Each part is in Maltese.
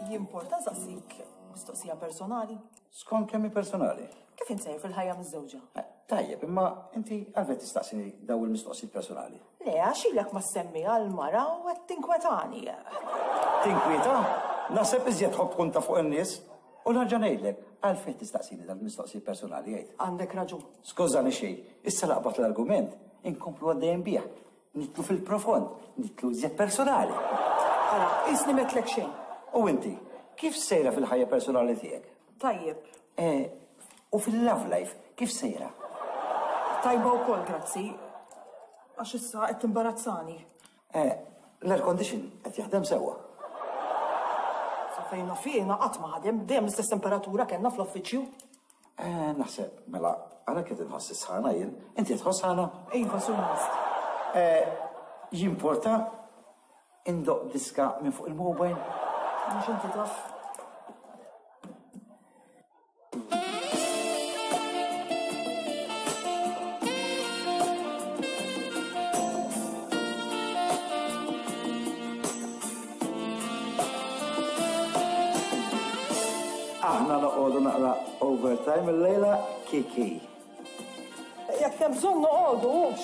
Jimporta nsaqsik mistoqsija personali? Skont kemm hi personali. Kif int sejjer fil-ħajja miżżewġa? Eh, tajjeb, imma inti għalfejn tistaqsini daw il-mistoqsijiet personali? Le, għax ilek ma semmi għal-mara u qed tinkwetani. Tinkwieta? Naħseb iżjed tħobb tkun ta' fuq in-nies. U nerġa' ngħidlek, għalfejn tistaqsini dal-mistoqsijiet personali jgħid. Għandek raġun. Skużani xejn, issa laqbat l-argument, inkomplu għaddejjem bih. Nidħlu fil-profond, nidħlu iżjed personali. Ara, qisni m'għedtlek xejn. U inti, kif sejra fil-ħajja personali tiegħek? Tajjeb. Eh, u fil-love life, kif sejra? Tajba wkoll, grazzi. Għax issa qed timbarazzani. Eh, l-air condition qed jaħdem sewwa. Sa fejn naf jiena qatt ma ħadem, dejjem l-istess temperatura kellna fl-uffiċċju. Eh, naħseb, mela, għalhekk qed inħoss is-sħana jien. Inti tħoss sħana? Iva, suppost. Eh, jimporta indoq diska minn fuq il-mobile? Mhux inti taf. Aħna noqogħdu naqra overtime illejla Kiki. Jekk hemm bżonn noqogħdu hux.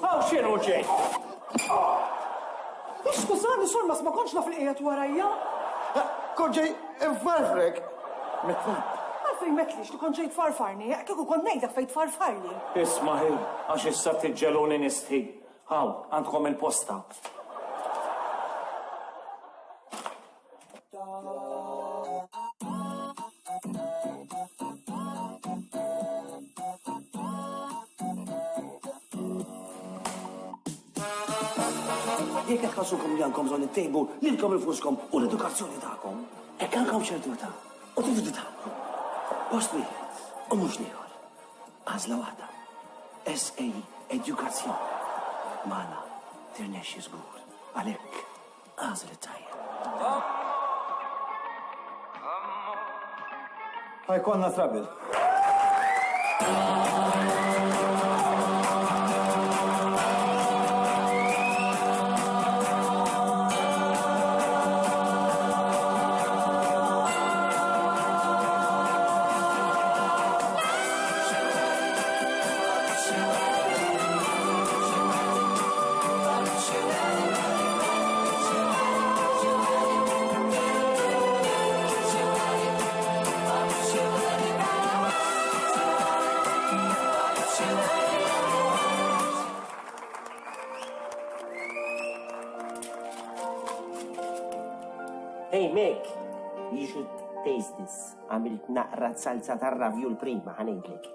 Hawn x'inhu ġej? Skużani, Sormas, ma kontx naf li qiegħed warajja. Kont ġej infarfrek. Mit-trab. Għalfejn m'għedtlix li kont ġej tfarfarni, kieku kont ngħidlek fejn tfarfarli. Isma' hi, għax issa tiġġeluni nistħi. Hawn, għandkom il-posta. Jekk qed tħossukom li għandkom bżonn ittejbu lilkom infuskom u l-edukazzjoni tagħkom, hekk għandkom ċertu età u tridu titgħallmu. Post wieħed u mhux l-ieħor. Għażla waħda. SA Edukazzjoni. Magħna tirnexxi żgur. Għalhekk għażel it-tajjeb. Ħa jkollna trouble. Hey Meg, you should taste this. Għamilt naqra salsa tar-ravjul prima, ħa ngħidlek.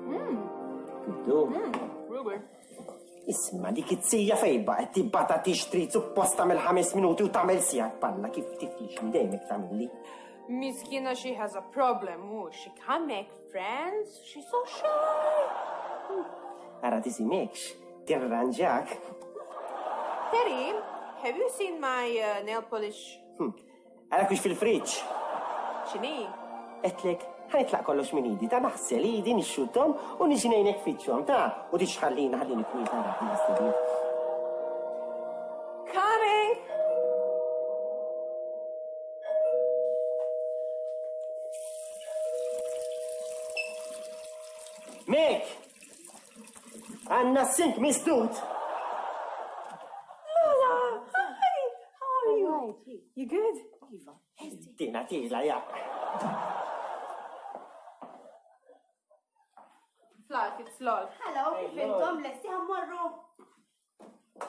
Mm. Good. Mm. Ruber. Isma' dik it-sija fejn baqgħet tibgħatha tixtri suppost tagħmel ħames minuti u tagħmel siegħa palla kif tiflixni dejjem hekk tagħmilli. Miskina she has a problem, u she can't make friends, she's so shy. Ara tisimekx, tirranġak. Terry, have you seen my uh, nail polish? Hmm. Ara kux fil-friġġ. X'inhi? Għedtlek, ħa nitlaq kollox minn idi, ta' naħsel idi, nixxutthom u niġi ngħinek fitxhom, ta' u tix ħallina ħallini kwieta ra. Coming! Mek! Għanna sink misdud! Lola! Hi! How are you? You good? Iva. Dina tila, ja. Flat, it's lol. Hello, kif intom lesti ħammorru?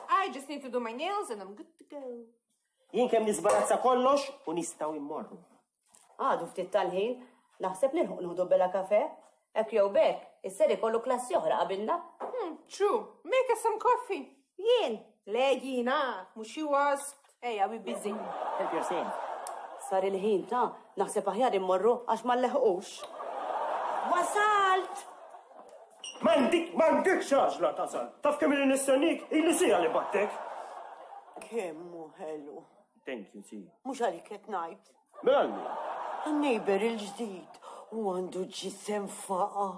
I just need to do my nails and I'm good to go. Jien kemm nisbarazza kollox u nistgħu immorru. Għadu ftit tal-ħin, naħseb nilħuq nieħdu bella kafe. Hekk jew b'hekk, is-ser ikollu klassi oħra qabilna. Hmm, true. Make us some coffee. Jien? Le jiena, mhux she was. Ejja, we busy. Help yourself. Sar il-ħin ta' naħseb aħjar immorru għax ma nleħqux. Wasalt! M'għandik, m'għandikx għażla tasal. Taf kemm ili nistennik, ili siegħa li battek. Kemm hu ħelu. Thank you, si. Mhux għalik qed ngħid. Mela għal min? Għan-neighbor il-ġdid. U għandu ġisem faqa.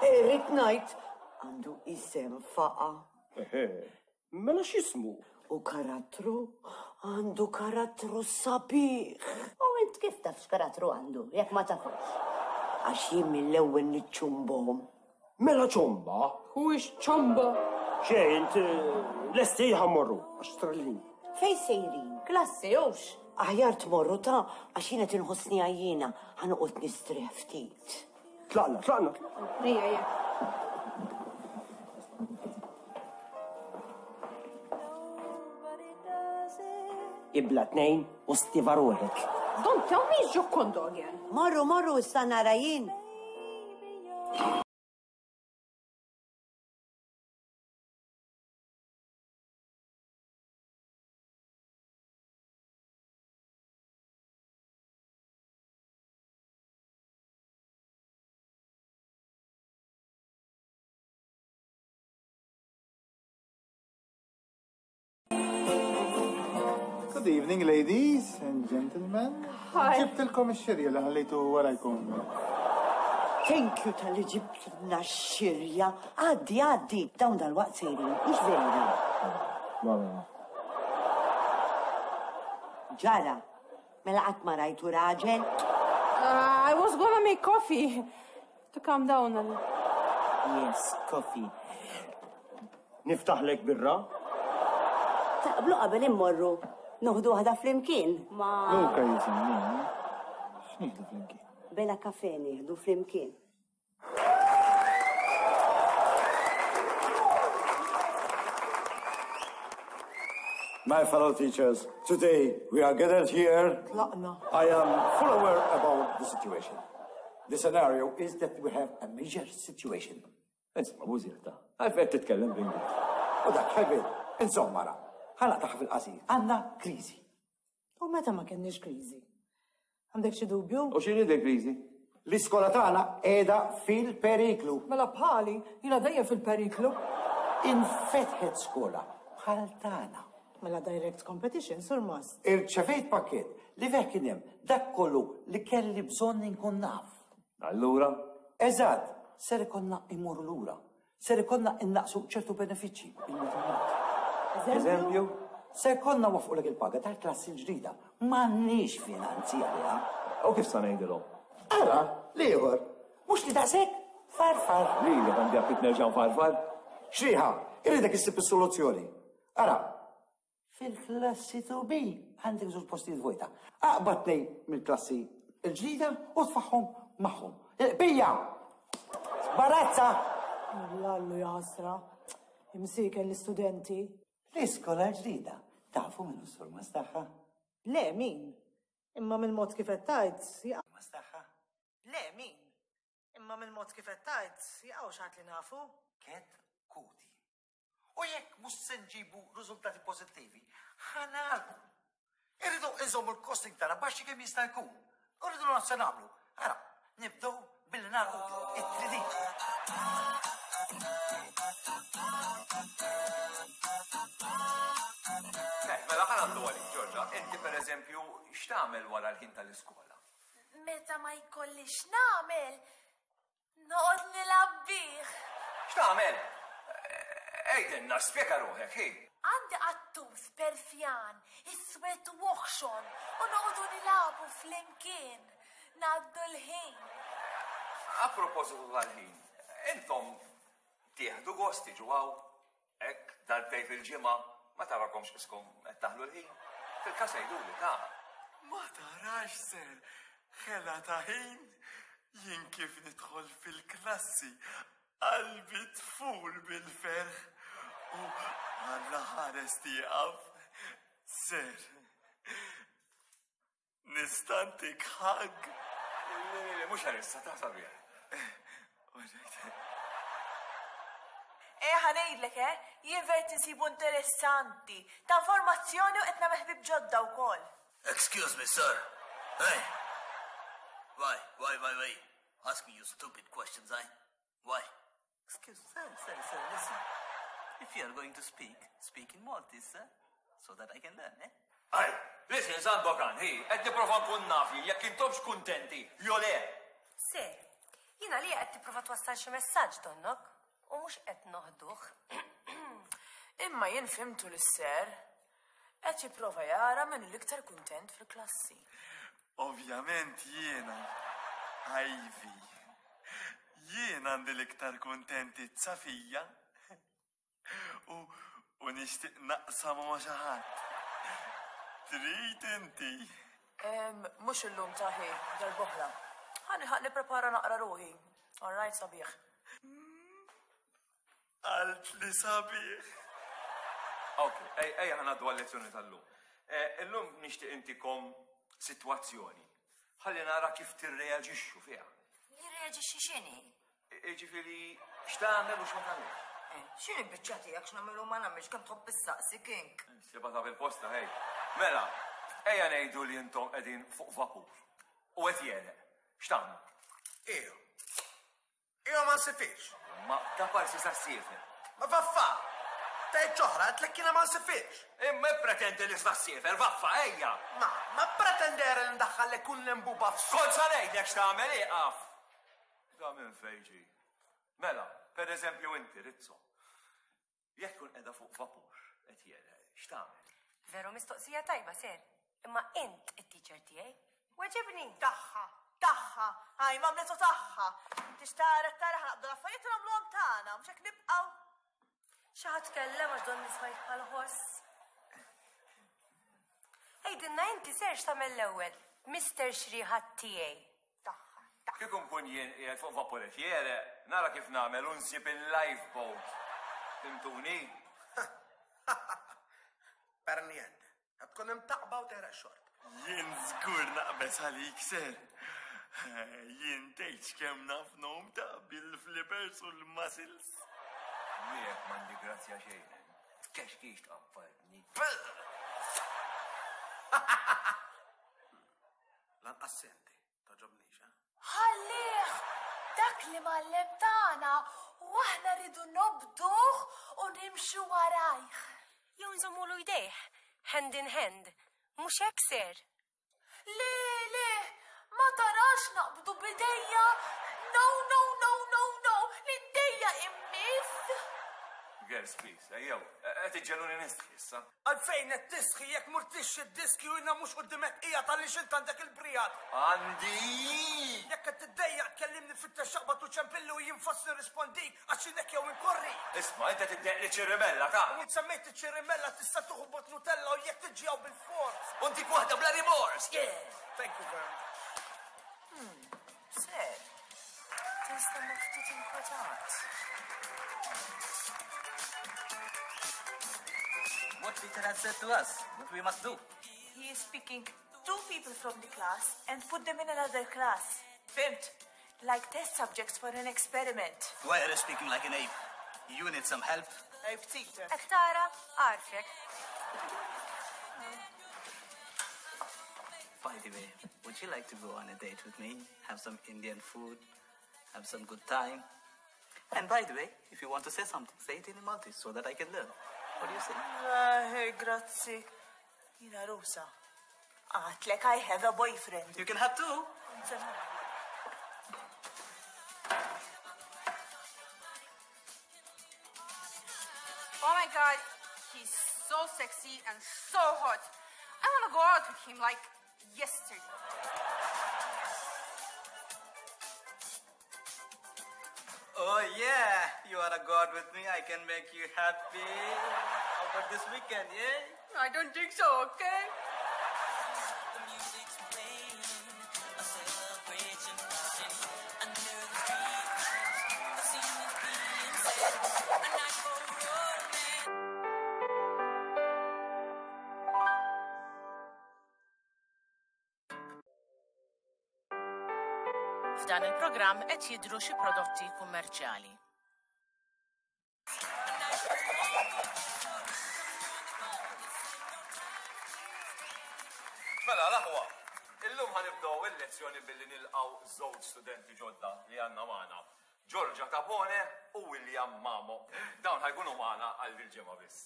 Irrid ngħid għandu isem faqa. Eħe, mela x'ismu? U karattru? Għandu karattru sabiħ. U int kif taf x'karattru għandu, jekk ma tafux? Għax jien mill-ewwel niċċumbhom. Mela ċomba? Who is ċomba? Xejn, int lesti ħa mmorru, għax trallin. Fejn sejrin? Klassi hux? Aħjar tmorru ta' għax jien qed inħossni għajjiena, ħa noqgħod nistrieħ ftit. Tlaqna, tlaqna. Ejja, ejja. Ibla tnejn u stiva ruħek. Don't tell me it's Giocondo again. Morru, morru, issa nara jien. Good evening, ladies and gentlemen. Hi. Ġibtilkom ix-xirja li ħallejtu warajkom. Thank you tal-li ġibtna x-xirja. Għaddi, għaddi, dawn dal-waqt sejrin, mhux vera. Ġara, mela qatt ma rajtu raġel? Uh, I was gonna make coffee to calm down a little. Yes, coffee. Niftaħlek birra? Taqblu qabel immorru noħdu waħda flimkien ma. Luka jisimni. X'nieħdu flimkien? Bela kafe nieħdu flimkien. My fellow teachers, today we are gathered here. Tlaqna. I am full aware about the situation. The scenario is that we have a major situation. Insomma, bużirta. Għalfejn qed titkellem bl-Ingliż. U dak ħebel, insomma ra, ħa naqtagħha fil-qasir, għandna kriżi. U meta ma kenniex kriżi? Għandek xi dubju? U x'inhi din kriżi? L-iskola tagħna qiegħda fil-periklu. Mela bħali, jiena dejjem fil-periklu. Infetħet skola bħal tagħna. Mela direct competition, Surmast. Irċevejt pakkett li fih kien hemm dak kollu li kelli bżonn inkun naf. Allura? Eżatt, ser ikollna immorru lura. Ser ikollna innaqsu ċertu benefiċċji bil-mod il-mod. Eżempju? Se jkollna nwaffqulek il-paga tal-klassi l-ġdida. M'għandniex finanzi għaliha. U kif sa ngħidilhom? Ara, l-ieħor. Mhux li daqshekk farfar. Lilek għandi aptit nerġa' nfarfar? Xrieħa, irridek issib is-soluzzjoni. Ara, fil-klassi 2B għandek żewġ postijiet vojta. Aqbad tnejn mill-klassi l-ġdida u tfagħhom magħhom. Il-qbija! Sbarazza! Lallu jaħasra. Imsieken l-istudenti. L-iskola l-ġdida. Tafu min hu s-surmast tagħha? Le, min? Imma mill-mod kif qed tgħid, jaqa'. Tagħha? Le, min? Imma mill-mod kif qed tgħid, jaqgħu xi ħadd li nafu. Ket kuti. U jekk mhux se nġibu riżultati pożittivi, ħa nagħlqu. Irridu inżommu l-costing tagħna baxxi kemm jista' jkun. U rridu nagħmlu se nagħmlu. Ara, nibdew billi nagħlqu it-3D. Eh, mela ħa ngħaddu għalik, Ġorġa, inti pereżempju x'tagħmel wara l-ħin tal-iskola? Meta ma jkollix nagħmel, Noqgħod nilgħab bih. X'tagħmel? Għidilna, spjega ruħek, hi. Għandi qattus Persjan, iswed u oħxon, u noqogħdu nilagħbu flimkien. Ngħaddu l-ħin. A propositu tal-ħin, intom tieħdu gost tiġu hawn? Hekk, darbtejn fil-ġimgħa, ma tarakomx qiskom qed taħlu l-ħin? Fil-każ għiduli, ta. Ma tarax ser ħela ta' ħin? Jien kif nidħol fil-klassi, qalbi tfur bil-ferħ u Alla ħares tieqaf. Ser, Nista' ntik hug? Le, le, le, mhux għalissa, ta' sabiħ. Eh, ħa ngħidlek, eh, jien ver tinsibu interessanti, ta' informazzjoni u qed nagħmel ħbieb ġodda wkoll. Excuse me, sir. Hey! Why, why, why, why? Ask me you stupid questions, eh? Why? Excuse me, sir, sir, sir, listen. If you are going to speak, speak in Maltese, sir, so that I can learn, eh? Ej, listen, Sandokan, hi, qed nipprova nkun naf jien jekk intomx kuntenti, jew le. Sir, jiena li qed tipprova twassal xi messaġġ donnok u mhux qed noħduh. Imma jien fhimtu lis-sir. Qed jipprova jara min hu l-iktar kuntent fil-klassi. Ovvjament jiena, Ivy. Jien għandi l-iktar kuntentizza fija. U, u nixtieq naqsam ma' xi ħadd. Trid inti? Mhux illum taħi, darb'oħra. Ħa nilħaq nipprepara naqra ruħi. All right, sabiħ. Għalt li sabiħ. Ok, ejja ħa ngħaddu għal-lezzjoni tal-lum. Eh, illum nixtieq intikom sitwazzjoni. Ħalli nara kif tirreaġixxu fiha. Nirreaġixxi x'inhi? Jiġifieri x'tagħmel u x'ma tagħmilx. Eh, x'inhi biċċa tiegħek x'nagħmel u ma nagħmilx kemm tħobb issaqsi kink. Siba ta' fil-posta ħej. Mela, ejja ngħidu li intom qegħdin fuq vapur u qed jegħreq. X'tagħmlu? Io. Io ma nsifirx. Ma ta' parsi sa ssiefer. Ma vaffa! Tgħid oħra, għedtlek jiena ma nsifirx. Imma ippretendi li sa ssiefer, vaffa, ejja! Ma, ma pretendere li ndaħħallek kull lembuba f'. Kont sa ngħidlek x'tagħmel, ieqaf! Da minn fejn ġie? Mela, per eżempju inti, Rizzo, jekk tkun qiegħda fuq vapur qed jegħreq, x'tagħmel? Veru mistoqsija tajba, sir. Imma int it-teacher tiegħi. Weġibni! Tagħha, tagħha, għaj m'għamlitu tagħha. Inti x'tara tara ħa naqbdu l-affarijiet u nagħmluhom tagħna, mhux hekk nibqgħu. Xi ħadd tkellem għax donni smajt bħal ħoss. Għidilna inti ser x'tagħmel l-ewwel, Mister Xrieħa tiegħi. Kieku nkun jien qiegħed fuq vaporet jegħreq, nara kif nagħmel u nsib il-lifeboat. Fhimtuni? Per niente. Qed tkun imtaqba u tegħreq xort. Jien żgur naqbeż għalik, sir. Jien tgħidx kemm naf ngħum ta' bil-flippers u l-muscles. Miegħek m'għandi grazzja xejn. Tkexkix tqaffalni. Lanqas senti, toġobnix, eh? Ħallih! Dak li mgħallem tagħna u aħna rridu nobduh u nimxu warajh. Jew nżommulu jdejh, hand in hand. Mhux hekk, sir? Le, le, ma tarax naqbdu b'idejja! No, no, no, no, no, l-idejja immiss! Girls, please, ejjew, qed iġġegħluni nistħi issa. Għalfejn qed tistħi jekk murtix id-diski u jiena mhux quddiemek qiegħed għaliex int għandek il-briegħad? Għandi! Jekk qed tiddejjaq tkellimni fittex aqbad u ċempilli u jien fost nirrispondik għax jien hekk jew inkorri. Isma' inti tiddejjaq li ċirrimella ta'. U int semmejt iċ-ċirrimella tista' tieħu bot Nutella u jekk tiġi hawn bilfors. U ntik waħda bla rimors! Yeah! Thank you very much. Hmm. Sir, tinstema' ftit inkwetat. What teacher has said to us, what we must do. He is picking two people from the class and put them in another class. Fhimt? Like test subjects for an experiment. Why are you speaking like an ape? You need some help. Ape teacher. Hekk tara, għarfek. By the way, would you like to go on a date with me? Have some Indian food, have some good time. And by the way, if you want to say something, say it in Maltese so that I can learn. What do you say? Eh, grazzi. Jiena Rusa. Għatlek I have a boyfriend. You can have two. Oh my god, he's so sexy and so hot. I wanna go out with him like yesterday. Oh yeah, you wanna go out with me? I can make you happy. How about this weekend, yeah? I don't think so, okay? F'dan il-programm qed jidhru xi prodotti kummerċjali. Mela, l-aħwa, illum ħa nibdew il-lezzjoni billi nilqgħu żewġ studenti ġodda li għandna magħna. Giorgia Capone u William Mamo. Dawn ħa jkunu magħna għal dil-ġimgħa biss.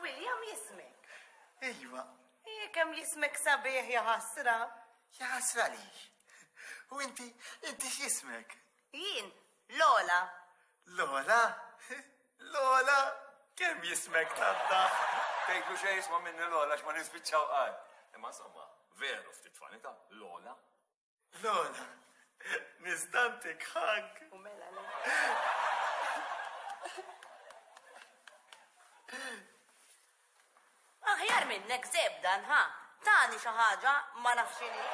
William jismek. Iva. Ih, kemm jismek sabiħ ja ħasra. Jaħasra li. U inti, inti x'jismek? Jien, Lola. Lola? Lola? Kemm jismek tadda? Tgħidlu xejn jisma' minni Lola x'ma nispiċċaw qatt. Imma insomma, veru ftit fanita, Lola. Lola, nistantik hug. U mela le. Aħjar minnek zeb dan, ha? Tani xi ħaġa ma nafx x'inhi.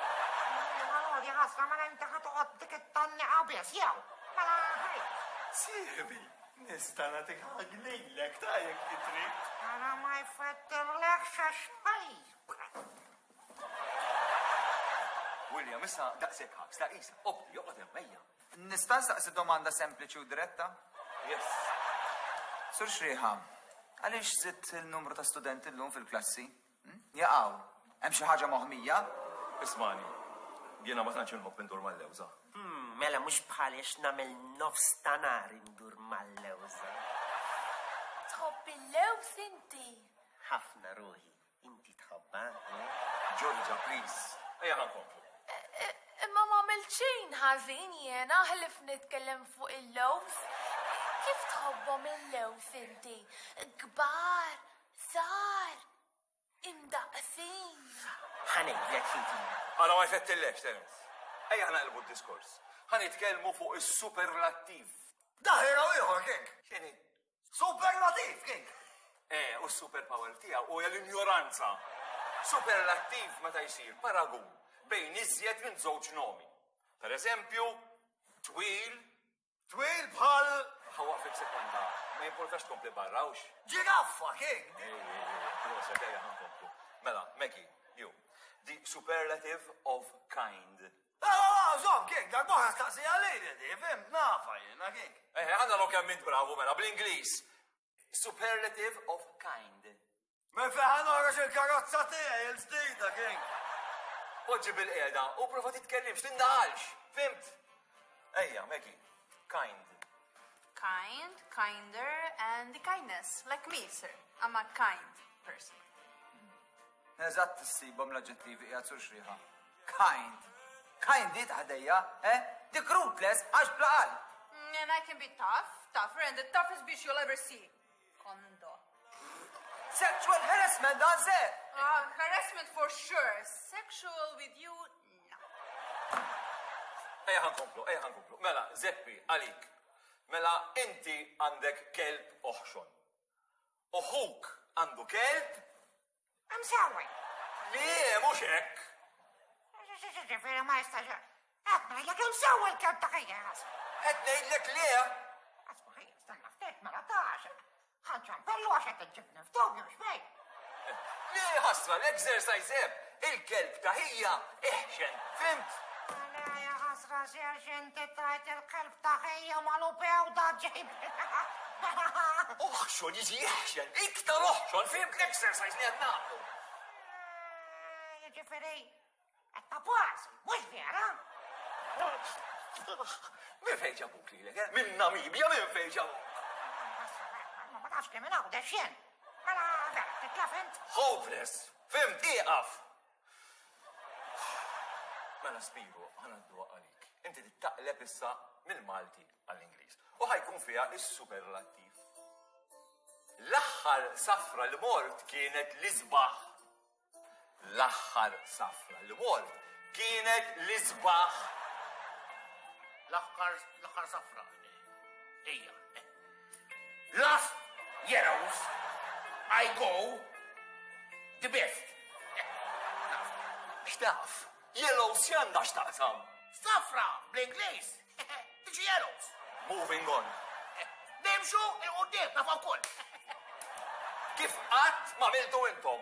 Għalodi ħasra mela inti ħa toqgħod dik it-tgħanniqa biss jew? Mela ħej. Sieħbi, nista' nagħtik hug lilek ta' jekk trid. Ara ma jfettirlekx għax ħej. William, issa daqshekk hugs, ta' isa, obdi, joqgħod hemm ejja. Nista' nsaqsi domanda sempliċi u diretta? Yes. Sur Xrieħa, għaliex żidt il-numru ta' studenti llum fil-klassi? Hm? Jaqaw, hemm xi ħaġa moħmija? Ismagħni, jiena ma tantx inħobb indur mal-lewża. Hm, mela mhux bħali għax nagħmel nofs ta' nhar indur mal-lewża. Tħobb il-lewż inti? Ħafna ruħi. Inti tħobbha, eh? Georgia, please. Ejja ħa nkomplu. Imma m'għamilt xejn ħażin jiena ħlief nitkellem fuq il-lewż. Kif tħobbhom il-lewż inti? Kbar, żgħar, imdaqqsin? Ħa ngħidlek xi trid. Ara ma jfettillekx, Terence. Ejja ħa naqilbu d-diskors. Ħa nitkellmu fuq is-superlattiv. Daħira u ieħor, King. X'inhi? Superlativ, King! Eh, u s-superpower tiegħu huja l-injoranza. Superlattiv meta jsir paragun bejn iżjed minn żewġ nomi. Per eżempju, twil. Twil bħal. Ħawaqfek sekonda, ma jimportax tkompli barra, hux? Ġiraffa, King! Ej, ej, ej, proset, ejja ħa nkomplu. Mela, Maggie, you. The superlative of kind. Żomm, King, darbohra staqsija lili di, fhimt, nafha jiena, King. Eh, ħa naraw kemm int bravu mela bl-Ingliż. Superlative of kind. Minn fejn ħa noħroġ il-karozza tiegħi il-ġdida, King? Poġġi bil-qiegħda u prova titkellimx, tindaħalx, fimt? Ejja, Maggie, kind. Kind, kinder, and the kindness. Like me, sir. I'm a kind person. Eżatt issibhom l-aġġettivi qiegħed sur xrieħa. Kind. Kind hi ta' ħdejja, eh? Dik ruthless għax bla qalb. Mm, and I can be tough, tougher, and the toughest bitch you'll ever see. Kondo. Sexual harassment dan se! Uh, harassment for sure. Sexual with you, no. Ejja ħa nkomplu, ejja ħa nkomplu. Mela, Zeppi, għalik. Mela, inti għandek kelb oħxon. U ħuk għandu kelb? I'm sorry. Le, mhux hekk. Ġifieri ma jistax. Qed ngħidlek imsewwi l-kelb ta' ħija. Qed ngħidlek le. Asma' ħija, stenna ftit mela tax. Ħanċampellu għax qed iġġibni f'dubju x'bejn. Le ħasra l-exercise hemm. Il-kelb ta' ħija iħxen, fimt? Le ja ħasra serx inti tajt il-kelb ta' ħija malupew da ġejb. Oħxon jiġi iħxen, iktar oħxon, fimt l-exercise li qed nagħmlu. Jiġifieri, qed ta' pass, mhux vera? Minn fejn ġabuk lilek, eh? Minn Namibja minn fejn ġabuk? Ma nafx li minn hawn xejn. Mela, vera, titlef int? Hopeless! Fimt, ieqaf! Mela Spiro, ħa ngħadduha għalik. Inti taqleb issa mill-Malti għall-Ingliż. U ħa jkun fiha is-superlattiv. L-aħħar safra li mort kienet l-isbaħ. L-aħħar safra li mort kienet l-isbaħ. L-aħħar l-aħħar safra. Ejja. Last years I go the best. X'taf? Yellows x'għandha x'taqsam? Safra bl-Ingliż tiġi yellows. Moving on. Nimxu il-qudiem nafu wkoll. Kif qatt ma għamiltu intom?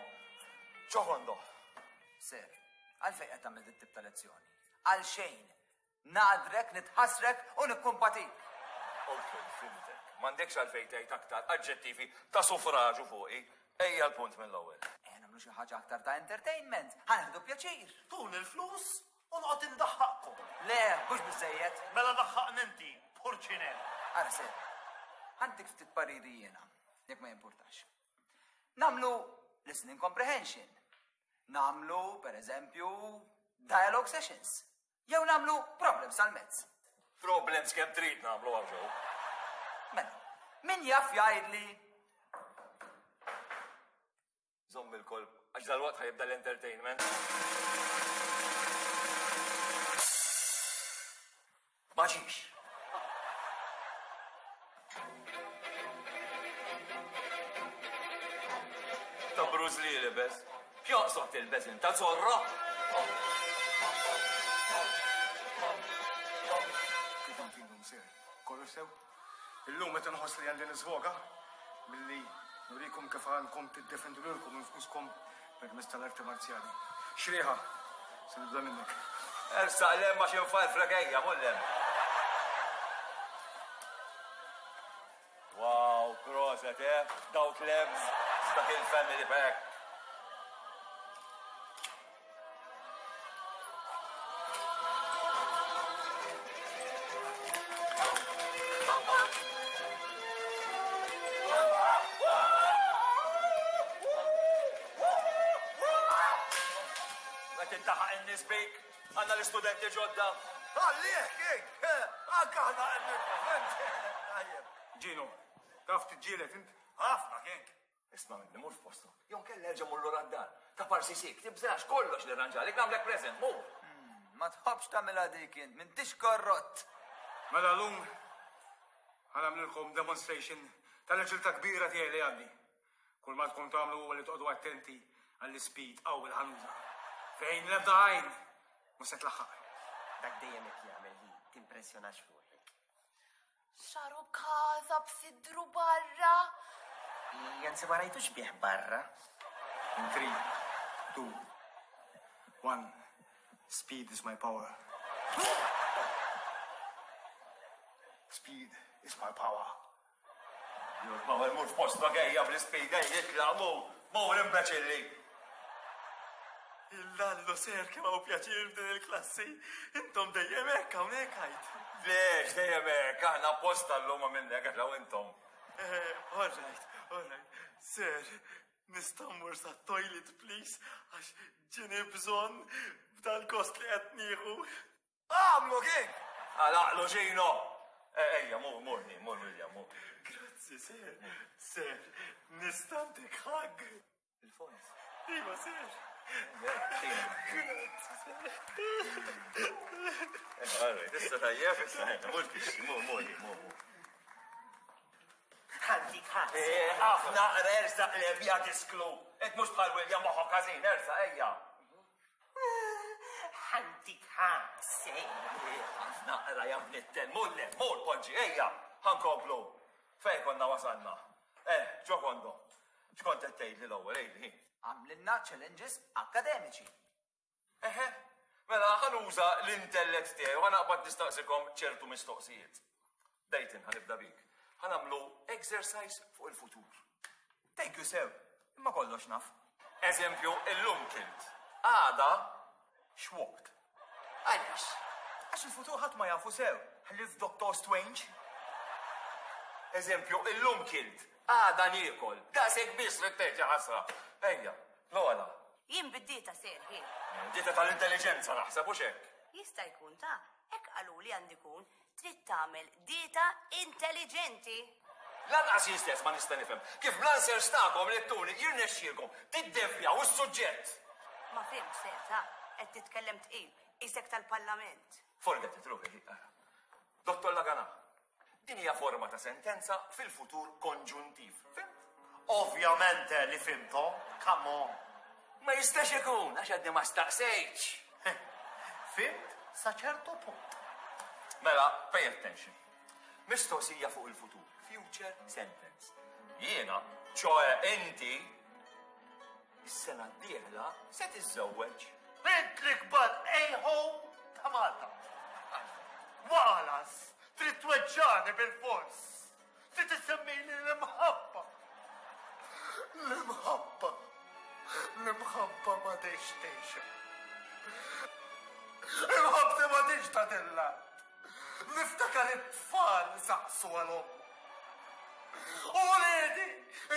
Ġokondo. Sir, għalfejn qed tagħmel dit tip ta' lezzjoni? Għal xejn. Nagħdrek, nitħassrek u nikkumpatik. Ok, fhimtek. M'għandekx għalfejn tgħid aktar aġġettivi ta' sufraġu fuqi. Ejja l-punt mill-ewwel. Ejja nagħmlu xi ħaġa aktar ta' entertainment. Ħa nieħdu pjaċir. Tuni l-flus u noqgħod indaħħaqkom. Le, mhux biżżejjed. Mela daħħaqni inti, purċinell. Ara sir, ħa ntik ftit pariri jiena, jekk ma jimpurtax. Nagħmlu listening comprehension. Nagħmlu, per eżempju, Dialogue sessions. Jew nagħmlu problems għall-mezz. Problems kemm trid nagħmlu hawn ġew. Mela, min jaf jgħidli Żomm il-kolb, għax dalwaqt ħa jibda l-entertainment. Ma ġiex. Ta' Bruce Lee libes. X'joqsod tilbes int, ta' Zorro? Kif inti llum sir? Kollox sew? Illum qed inħoss li għandi nisvoga billi nurikom kif għandkom tiddefendu lilkom infuskom permezz tal-arti marzjali. Xrieħa, se nibda minnek. Ersaq 'l hemm għax infarfrek ejja, mur 'l hemm. Wow, proset, eh? Dawk l-ebs, dak il-family pack. Qed intaħaq in-nies bik, għandna l-istudenti ġodda. Għallih, King! Anke aħna qed nifhmu, Tajjeb. Ġino, taf tiġġieled int? Ħafna, King. Isma' minni, mur f'postok. Jew inkella erġa' mur lura d-dar. Ta' parsi sik, tibżax, kollox nirranġalek, nagħmlek present, mur! Ma tħobbx tagħmilha dik int, m'intix korrott! Mela llum ħa nagħmlilkom demonstration tal-aġiltà kbira tiegħi li għandi. Kull ma għandkom tagħmlu huwa li toqgħodu attenti għall-ispeed qawwi li ħa nuża. Fejn l-ebda għajn mhux se tlaħħaq. Dak dejjem hekk jagħmel hi, timpressjonax ruħek. Xaru kaza b'sidru barra. Anzi ma rajtux bih barra. In 3, 2, 1, speed is my power. Speed is my power. Your power mur f'postok ejja bl-ispeed ejja itlaq mur, mur imbeċilli. Illallu ser kemm hawn pjaċir f'din il-klassi. Intom dejjem hekk hawnhekk għid. Lex dejjem hekk, aħna apposta llum għamilna hekk għax intom. Eh, all right, all right. Sir, nista' mmur sat-toilet please għax ġieni bżonn b'dal-gost li qed nieħu. Għamlu King! Għalaqlu Gino! Eh, ejja, mur, mur, mur, William, mur. Grazzi, sir. Sir, nista' ntik hug. Il-fons. Iva, sir. Issa tajjeb, issa mur tixxi, mur, mur, mur. Ħantik ħadd. Eh, ħafna ersa l-ebja disklu. Et mhux bħal William moħħok ħażin, ersa, ejja. Ħantik ħadd. Ħafna qra jam nitten, mur le, mur poġġi, ejja, ħankomplu. Fej konna wasalna. Eh, ġo kondo. X'kont qed tgħidli l-ewwel, għidli. Għamlilna challenges akkademiċi. Eħe, mela ħa nuża l-intellett tiegħi u ħa naqbad nistaqsikom ċertu mistoqsijiet. Dayton, ħa nibda bik. Ħa nagħmlu exercise fuq il-futur. Thank you, sir. Imma kollox naf. Eżempju, illum kilt. Għada x'waqt. Għaliex? Għax il-futur ħadd ma jafu sew, ħlief Doctor Strange. Eżempju, illum kilt, għada niekol. Daqshekk biss trid tgħid ja ħasra. Ejja, Lola. Jien bid-dieta ser, hi. Dieta tal-intelliġenza naħseb hux hekk. Jista' jkun ta' hekk qaluli għandi kun trid tagħmel dieta intelliġenti. Lanqas jien stess ma nista' nifhem kif bl-answers tagħkom li ttuni jirnexxielkom tiddevjaw is-suġġett. Ma fhimtx ser ta' qed titkellem tqil, qisek tal-Parlament. Forget it, ruħi, ara. Dottor Lagana, din hija forma ta' sentenza fil-futur konġuntiv. Fhimt? Ovvjamente li fhimthom, come on. Ma jistax ikun, għax għadni ma staqsejtx. Fhimt sa ċertu punt. Mela, pay attention. Mistoqsija fuq il-futur, future sentence. Jiena, ċoe inti, is-sena d-dieħla se tiżżewweġ. Int l-ikbar a-hole ta' Malta. Walas, trid tweġġagħni bil-fors. Trid issemmili l-imħabba. L-imħabba. L-imħabba ma tgħix tgħixha. Imħabbti ma tgħix ta' dilla. Niftakar it-tfal isaqsu għal ommhom. U wliedi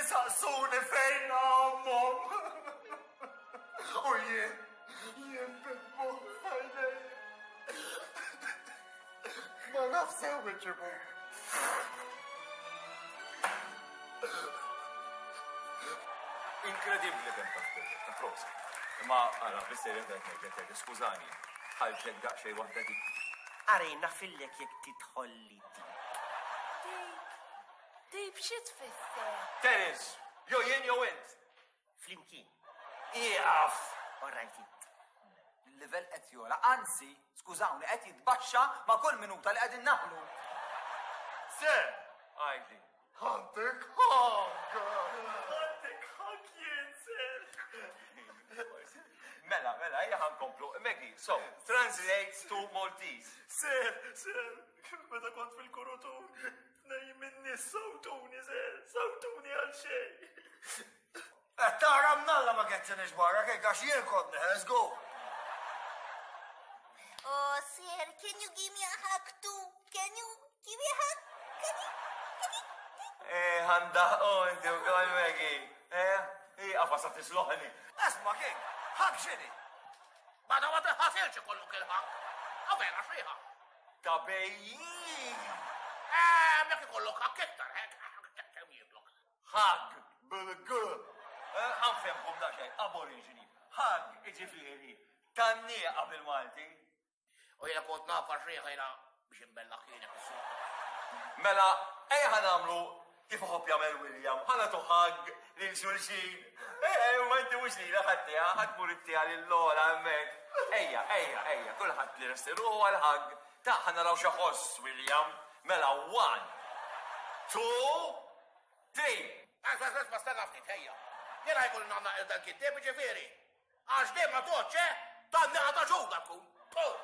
isaqsuni fejn ommhom. U jien. Jien bid-dmugħ f'għajnejja. Ma naf sew iġibu. Inkredibbli kemm taf ta' prosa. Imma ara, bis-serjetà qed ngħidlek Teddy, skużani, ħarġlek daqsxejn waħda dik. Ara jien nafillek jekk tidħolli dik. Deep, deep xi tfisser? Terence, jew jien jew int. Flimkien. Ieqaf! All right int. Il-livell qed jogħla, anzi, skużawni, qed jitbaxxa ma' kull minuta li qegħdin naħlu. Sir! Għidli. Ħantik ħank! Ħantik ħank jien, sir! Mela, mela, ejja ħa nkomplu. Maggie, so, translate to Maltese. Sir, sir, meta kont fil-kurutur, tnejn min-nies sawtuni, sir, sawtuni għal xejn. Qed tara mnalla ma keċċenix barra kejk għax jien kont neħel, żgur. Oh, sir, can you give me a hug too? Can you give me a hug? Can you? Eh, ħandaqqu inti wkoll Maggie. Eh, hi qafas sa tisloħni. Isma' King, hug x'inhi? Meta ma tinħasilx ikollok il-hug. Ah vera x'fiha? Ta' bejjin! Eh, mek ikollok hug iktar, hekk kemm jieklok. Hug bil-g. Eh, ħa nfehmkom daqsxejn, aborigini. Hug, jiġifieri, tgħanniqa bil-Malti. U jiena kont naf għax riħa jiena biex inbellaħ kienek is-suq. Mela, ejja ħa nagħmlu kif iħobb jagħmel William, ħa nagħtu hug lil xulxin. Eh, ma inti mhux lilha ħadd tiegħha, ħa tmur ittiha lil Lola hemmhekk. Ejja, ejja, ejja, kulħadd li resti ruħu għal hug. Ta' ħa naraw xi William. Mela, one, two, three. Isma' isma' isma' stenna ftit, ejja. Jiena jkolli nagħmel dal-kittieb, jiġifieri. Għax din ma tgħoddx, eh? Tgħanniqa ta' ġuda tkun. Puh!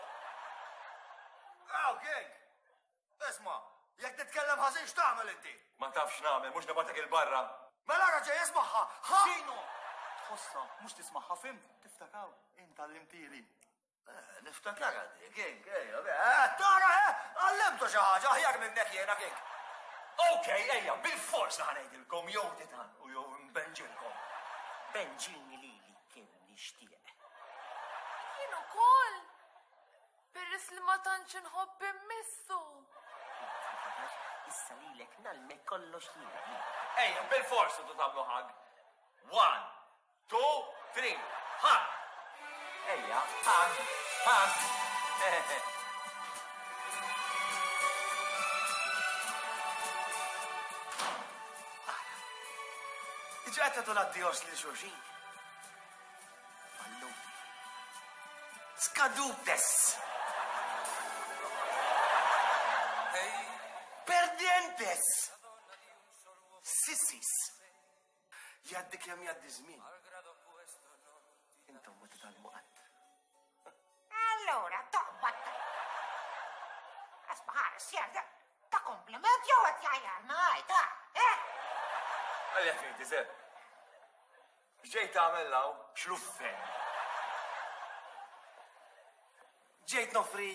Aw, King! Isma', jekk titkellem ħażin x'tagħmel inti? Ma tafx x'nagħmel, mhux nibgħatek 'il barra. Mela ara ġej ismagħha, ħa! X'inhu? Tħossha, mhux tismagħha, fhimt? Tiftakaw, int għallimtieli. Eh, niftakar għaddi, King, ejja, eh, tara, eh, għallimtu xi ħaġa aħjar minnek jiena, King. Ok, ejja, bil-forsa ħa ngħidilkom jew titgħannqu jew nbenġilkom. Benġilni lili kemm nixtieq. Jien ukoll! Peress li ma tantx inħobb immissu. Issa lilek nagħlmek kollox jiena. Ejja, bil-forsa tu tagħmlu hug. One, Two, three, hug! Ejja, hug, hug! Diġà qed tagħtu l-addios lil xulxin. Falluti. Skadutes! Perdientes! Sissis! Jgħaddi kemm jgħaddi żmien. Intom ma titgħallmu qatt. Allura toqbad. Asma ħares jerda ta' kompliment jew qed jgħajjarna għajta, eh? Għalja fejn tiżeb. X'ġejt tagħmel law? Xluffen. Ġejt nofri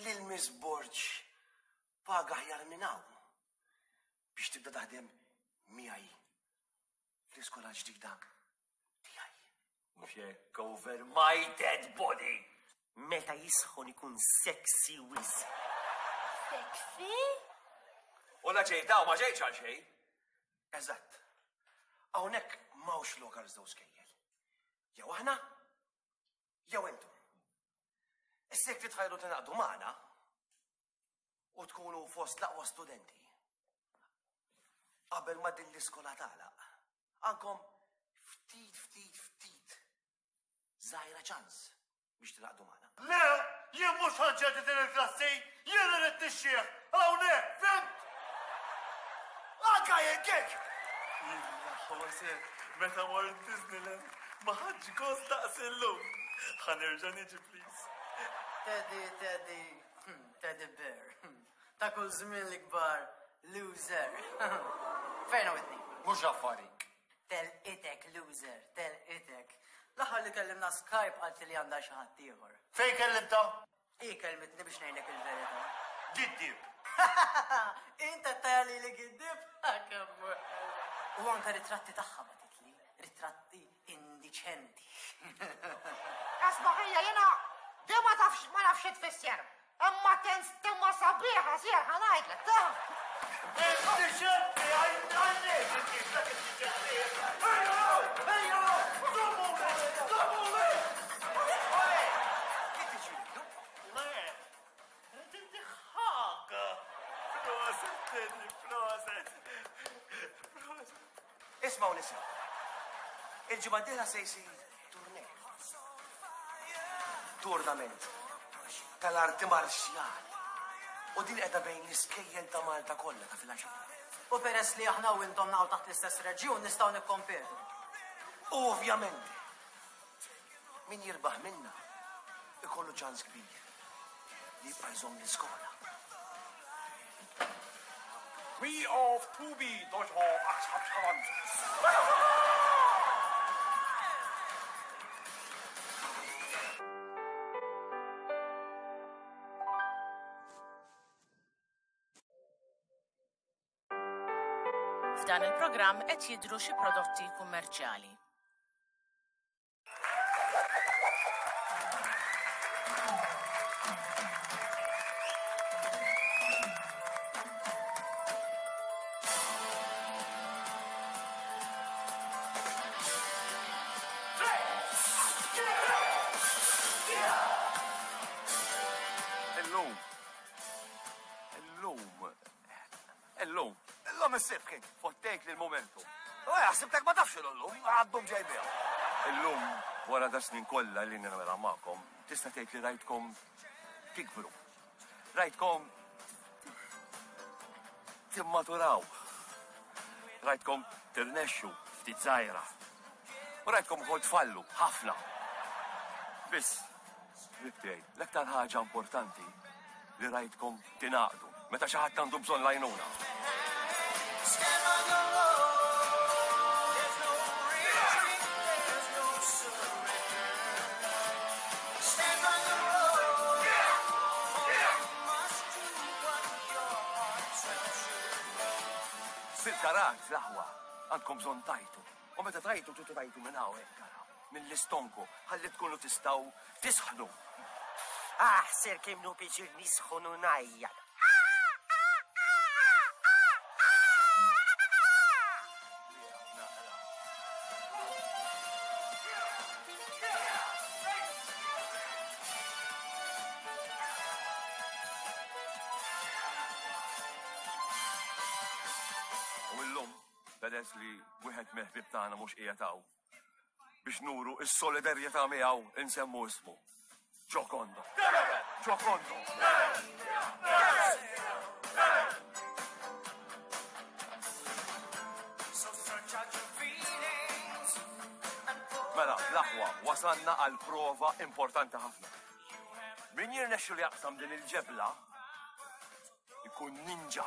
lil Miss Borg paga aħjar minn hawn. biex tibda taħdem miegħi fl-iskola l-ġdida tiegħi. Mhux hekk over my dead body. Meta jisħon ikun sexy wisq. Sexy? U la ġejt hawn ma ġejtx għal xejn. Eżatt. Hawnhekk m'hawnx lok għal żewġ skejjel. Jew aħna, jew intom. Issa jekk titħajru tingħaqdu magħna, u tkunu fost l-aqwa studenti. Qabel ma din l-iskola tagħlaq, għandkom ftit ftit ftit żgħira ċans biex tingħaqdu magħna. Le, jien mhux ħa nċedi din il-klassi, jien irrid nixxieħ hawnhekk, fhimt? Anka jien kik! Jien meta mort Disneyland ma ħadx gost daqs illum. Ħa nerġa' niġi please. Teddy, Teddy, Teddy bear. Ta' kull żmien l-ikbar loser. Fejn Whitney? Mhux affarik. Telqitek loser, telqitek. L-aħħar li kellimna Skype qaltli li għandha xi ħadd ieħor. Fejn kellimtha? Hi kellmitni biex ngħidlek il-verità. Giddieb. Int qed tgħajjar lili giddieb? Kemm hu ħelu. U anke ritratti tagħha bagħtitli, ritratti indie. Indiċenti. Asma ħija jiena di ma tafx ma nafx xi tfisser. Imma tinstema sabiħa sir ħa ngħidlek ta. Indiċenti għajnejk dak indiċenti. Ejja, ejja, domuli, domuli. Ole, kif tiġridu? Le, rrid intiħħak. Proset, Teddy, proset. Proset. Ismgħu nisa. Il-ġimgħa d-dieħla se jsir turnej. Tournament tal-arti marzjali. U din qiegħda bejn l-iskejjel ta' Malta kollha ta' filgħaxija. U peress li aħna u intom naqgħu taħt l-istess reġjun nistgħu nikkompetu. U ovvjament, min jirbaħ minna ikollu ċans kbir li jibqa' jżomm l-iskola. We of 2B Dojo Akshatran. F'dan il-programm qed jidhru xi prodotti kummerċjali. Illum. Illum. Illum. Illum is-sib kien. Fottejt li l-momentu. U ħsibtek ma tafx illum, għaddum ġej biha. Illum, wara da snin kollha li nagħmilha magħkom, tista' tgħid li rajtkom tikbru. Rajtkom timmaturaw. Rajtkom tirnexxu ftit żgħira. U rajtkom ukoll tfallu ħafna. Biss, ħbieb tiegħi, l-aktar ħaġa importanti li rajtkom tingħaqdu meta xi ħadd għandu bżonn l-għajnuna. Fil-karat, l-aħwa, għandkom bżonn tajtu. U meta tajtu, tridu tajtu minn hawn hekk, ara, mill-istonku, ħalli tkunu tistgħu tisħnu. Ah, sir kemm nu piċir nisħon u ngħajjat. U illum, peress li wieħed mill-ħbieb tagħna mhux qiegħed hawn, biex nuru s-solidarjetà miegħu insemmu ismu. Giocondo. Giocondo. Mela, l-aħwa, wasalna għal prova importanti ħafna. Min jirnexxu li jaqsam din il-ġebla ikun ninja.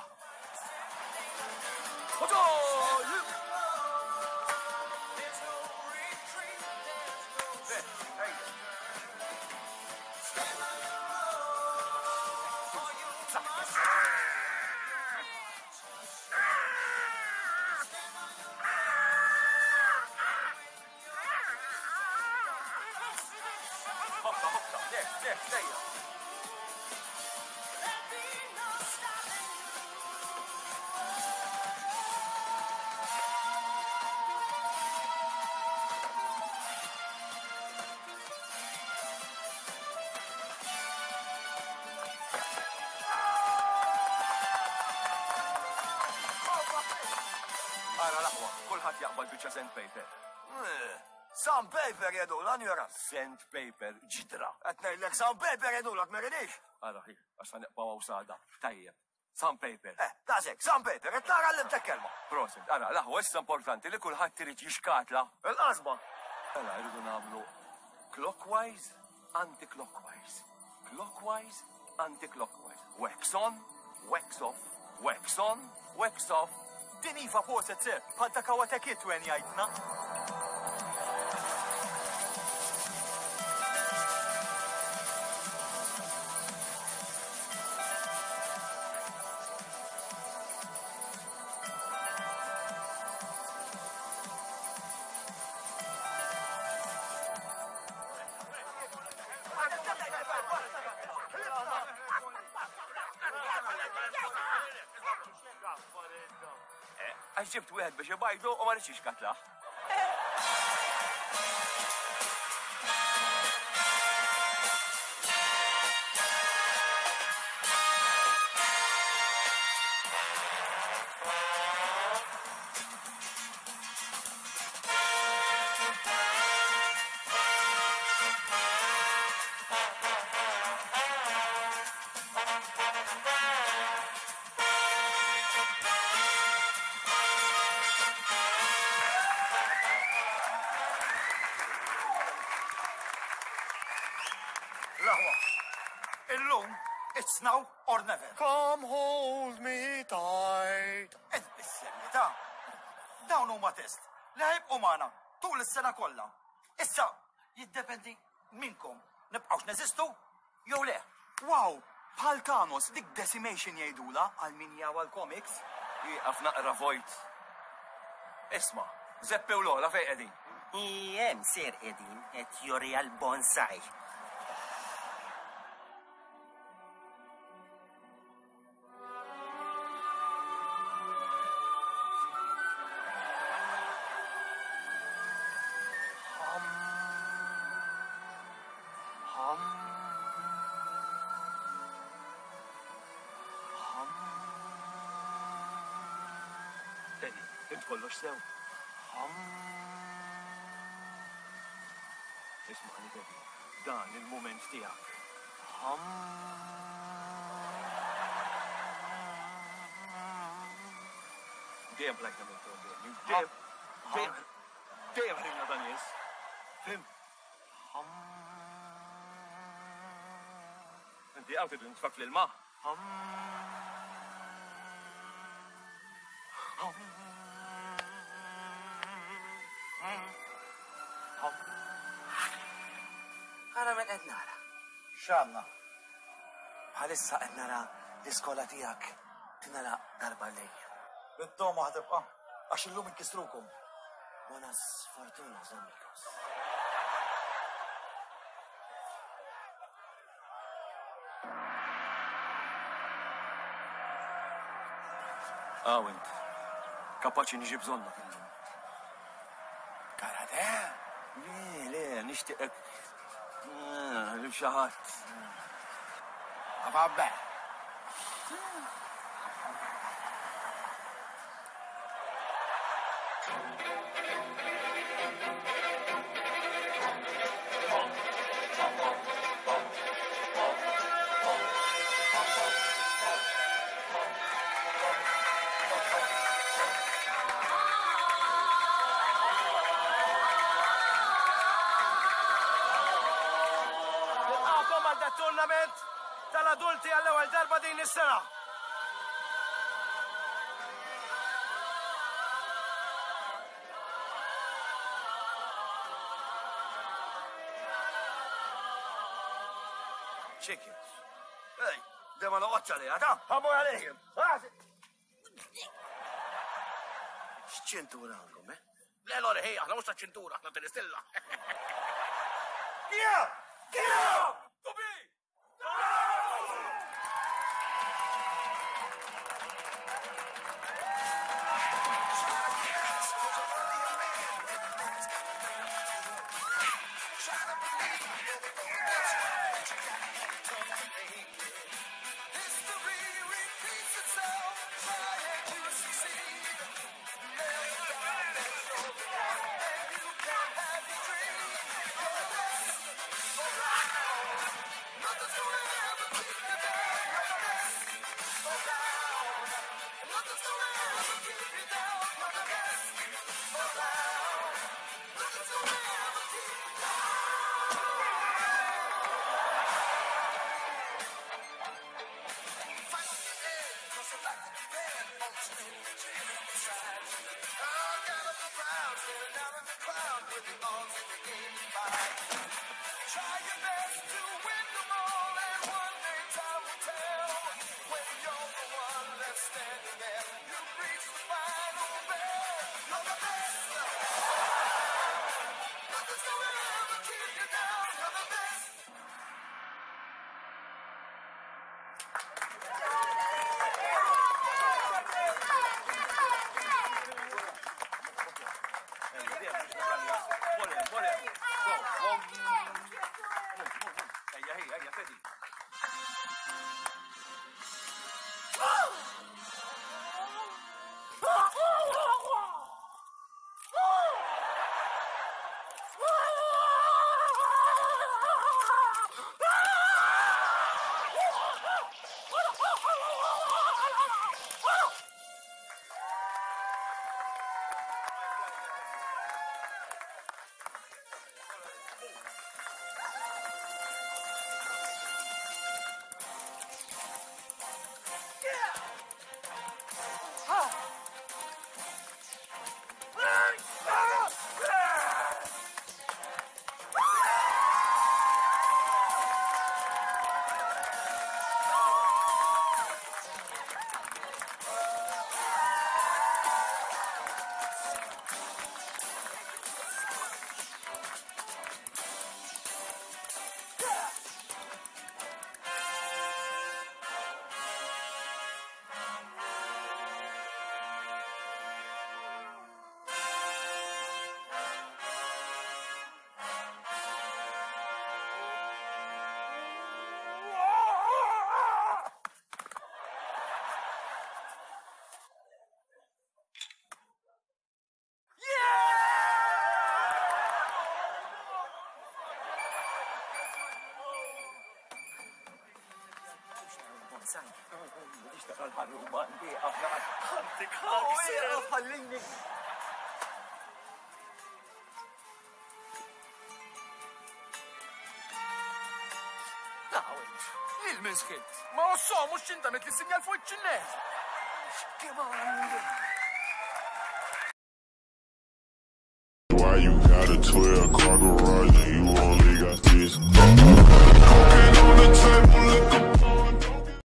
Hoppa, hoppa, le, le, lejja. Ara l-aħwa, kulħadd jaqbad biċċa sandpaper. Sandpaper jedula, njura. Sandpaper ġidra. Qed ngħidlek sandpaper jedulak ma ridix. Ara, hi, għax sa neqbgħu hawn sada. Tajjeb. Sandpaper. Eh, daqshekk, sandpaper, qed nara għallimtek kelma. Prosit, ara, l-aħwa issa importanti li kulħadd irid jixkatla. Il-qasba. Mela, irridu nagħmlu clockwise, anti-clockwise. Clockwise, anti-clockwise. Wax on, wax off, wax on, wax off. Din iva proset sir, bħal ta' Karate Kid wen jgħidna. Għax ġibt wieħed biex ibajdu u ma ridx jixkatlah. L-aħwa, illum, it's now or never. Come hold me tight. Ed bis-serjetà. Dawn huma test li ħajbqu magħna tul is-sena kollha. Issa jiddependi minnkom nibqgħux neżistu jew le. Wow! Bħal Thanos, dik decimation jgħidulha għal min jawha l-comics. Ieqaf naqra vojt. Isma', Zeppi u Lola fejn qegħdin? Hemm ser qegħdin qed joriha l-bonsai. Teddy, int kollox sew. Ismagħni Teddy, dan il-mument tiegħek. Dejjem plajtna minn problemi, dejjem, dejjem, dejjem ħriġna ta' nies. Fim? Inti għaw tridu nitfak fl-ilma? Ara min qed nara. X'għandna? Bħalissa qed nara l-iskola tiegħek tingħalaq darba għal dejjem. Bit-togħma ħa tibqa' għax illum inkissrukom. Buenas fortunas, amigos. Aw int. Kapaċi niġi bżonnok illum. Karate? Le, le, nixtieqek ah, lil xi ħadd. Vabbè. Nilqakom għal dat tournament tal-adulti għall-ewwel darba din is-sena. Chickens. Ej, dema noqgħodx għaliha, ta' ħamur għalihim. X'ċintura għandkom, eh? Le, Lori, ħej, aħna mhux ta' ċintura, aħna tal-istilla. Kija! Kija! Biex tara l-ħarruba Ħantik ħak, sir. Ħallini. Lil min sħilt? Ma ossom mhux x'intamet li sinjal fuq iċ-ċinnet. Why you got a 12 car garage and you only got this?